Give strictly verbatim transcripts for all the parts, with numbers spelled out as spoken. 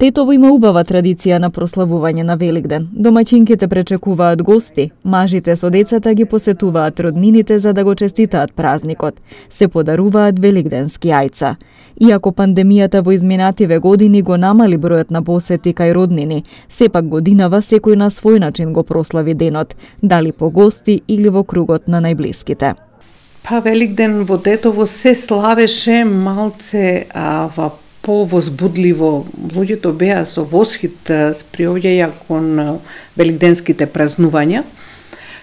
Тетово има убава традиција на прославување на Великден. Домаќинките пречекуваат гости, мажите со децата ги посетуваат роднините за да го честитаат празникот. Се подаруваат великденски јајца. Иако пандемијата во изминативе години го намали бројот на посети кај роднини, сепак годинава секој на свој начин го прослави денот, дали по гости или во кругот на најблиските. Па Великден во Тетово се славеше малце а, во повозбудливо. Луѓето беа со восхит приоѓаја кон великденските празнувања.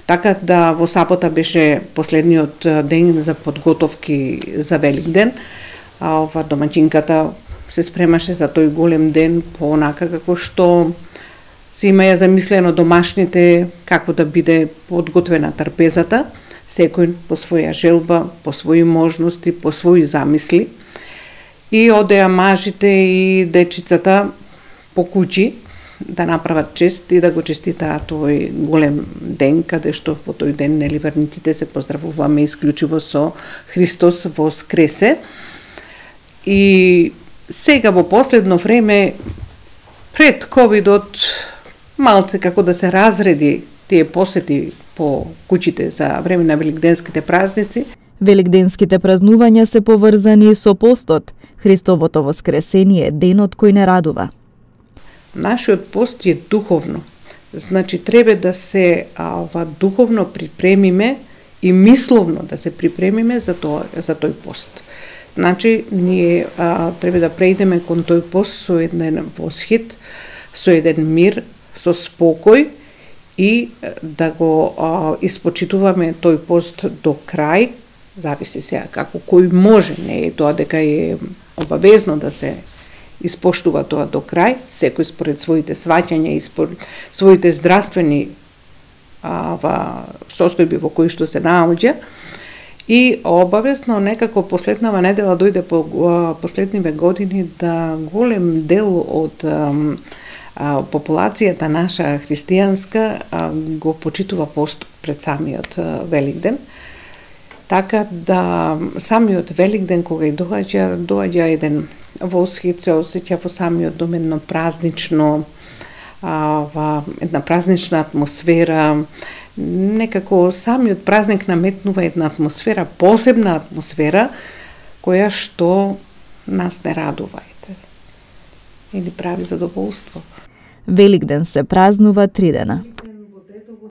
Така да во сабота беше последниот ден за подготовки за Великден. А ова домаќинката се спремаше за тој голем ден по онака како што се имаја замислено домашните, како да биде подготвена трпезата, секој по своја желба, по своји можности, по своји замисли. И одеа мажите и дечицата по куќи да направат чест и да го честитаат овој голем ден, каде што во тој ден нели верниците се поздравуваме исклучиво со Христос воскресе. И сега во последно време пред ковидот малце како да се разреди тие посети по куќите за време на великденските празници. Великденските празнувања се поврзани со постот. Христовото воскресение е денот кој не радува. Нашиот пост е духовно. Значи треба да се а, ова духовно припремиме и мисловно да се припремиме за тоа за тој пост. Значи ние а, треба да преидеме кон тој пост со еден восхит, со еден мир, со спокој и да го а, испочитуваме тој пост до крај. Зависи сега како кој може, не е тоа дека е обавезно да се испоштува тоа до крај, секој според своите сваќања и според своите здравствени а, состојби во кои што се наоѓа. И обавезно некако последнава недела дојде по а, последниве години да голем дел од а, а, популацијата наша христијанска а, го почитува пост пред самиот а, Великден. Така да самиот Великден кога и доаѓа, доаѓа еден восхит, се осеќа во самиот дом едно празнично, а, ва, една празнична атмосфера. Некако самиот празник наметнува една атмосфера, посебна атмосфера, која што нас не радува и ни прави задоволство. Великден се празнува три дена.